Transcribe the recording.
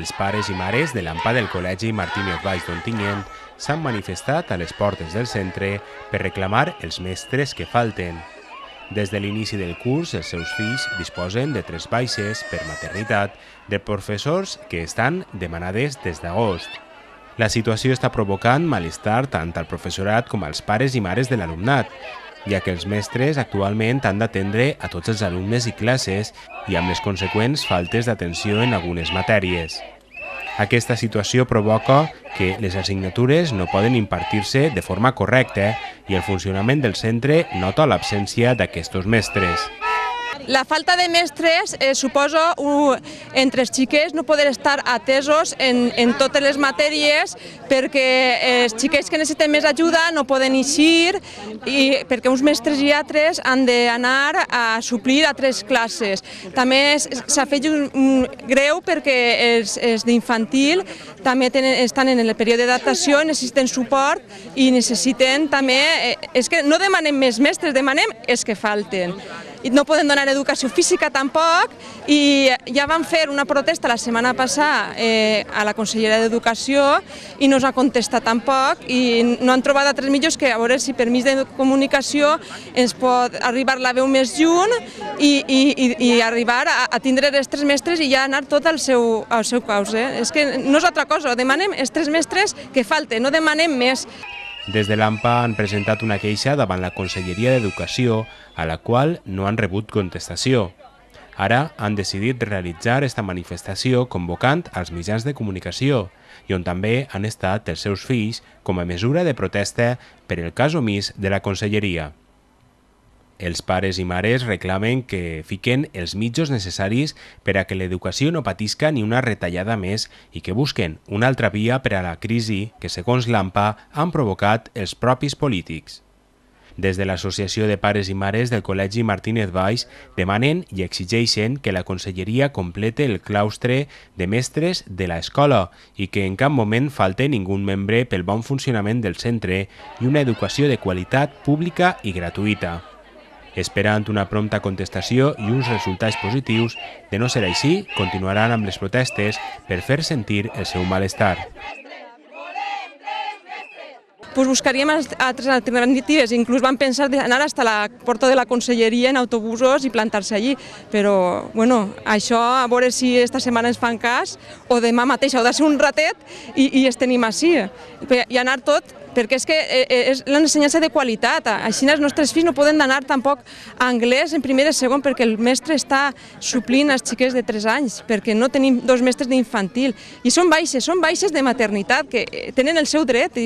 Els pares i mares de l'AMPA del Col·legi Martínez Valls d'Ontinyent s'han manifestat a les portes del centre per reclamar els mestres que falten. Des de l'inici del curs, els seus fills disposen de 3 baixes per maternitat de professors que estan demanades des d'agost. La situació està provocant malestar tant al professorat com als pares i mares de l'alumnat, ja que els mestres actualment han d'atendre a tots els alumnes i classes i amb les conseqüents faltes d'atenció en algunes matèries. Aquesta situació provoca que les assignatures no poden impartir-se de forma correcta i el funcionament del centre nota l'absència d'aquests mestres. La falta de mestres suposa entre els xiquets no poder estar atesos en totes les matèries perquè els xiquets que necessiten més ajuda no poden eixir i perquè uns mestres i altres han d'anar a suplir altres classes. També s'ha fet greu perquè els d'infantil també estan en el període d'adaptació, necessiten suport i necessiten també... És que no demanem més mestres, demanem els que falten. I no poden donar educació física tampoc i ja van fer una protesta la setmana passada a la Conselleria d'Educació i no s'ha contestat tampoc i no han trobat altres mitjans que a veure si per mig de comunicació ens pot arribar la veu més lluny i arribar a tindre els 3 mestres i ja anar tot al seu caus. És que no és altra cosa, demanem els 3 mestres que falten, no demanem més. Des de l'AMPA han presentat una queixa davant la Conselleria d'Educació, a la qual no han rebut contestació. Ara han decidit realitzar esta manifestació convocant als mitjans de comunicació i on també han estat els seus fills com a mesura de protesta per el cas omís de la Conselleria. Els pares i mares reclamen que fiquen els mitjans necessaris per a que l'educació no patisca ni una retallada més i que busquen una altra via per a la crisi que, segons l'AMPA, han provocat els propis polítics. Des de l'Associació de Pares i Mares del Col·legi Martínez Valls demanen i exigeixen que la Conselleria complete el claustre de mestres de l'escola i que en cap moment falte ningú membre pel bon funcionament del centre i una educació de qualitat pública i gratuïta. Esperant una prompta contestació i uns resultats positius, de no ser així, continuaran amb les protestes per fer sentir el seu malestar. Buscaríem altres alternatives, inclús vam pensar d'anar fins a la porta de la Conselleria en autobusos i plantar-se allí, però això a veure si esta setmana ens fan cas o demà mateix ha de ser un ratet i els tenim així, i anar tot, perquè és que és l'ensenyança de qualitat. Així els nostres fills no poden anar tampoc a anglès en primer i segon perquè el mestre està suplint els xiquets de 3 anys, perquè no tenim 2 mestres d'infantil. I són baixes de maternitat, que tenen el seu dret.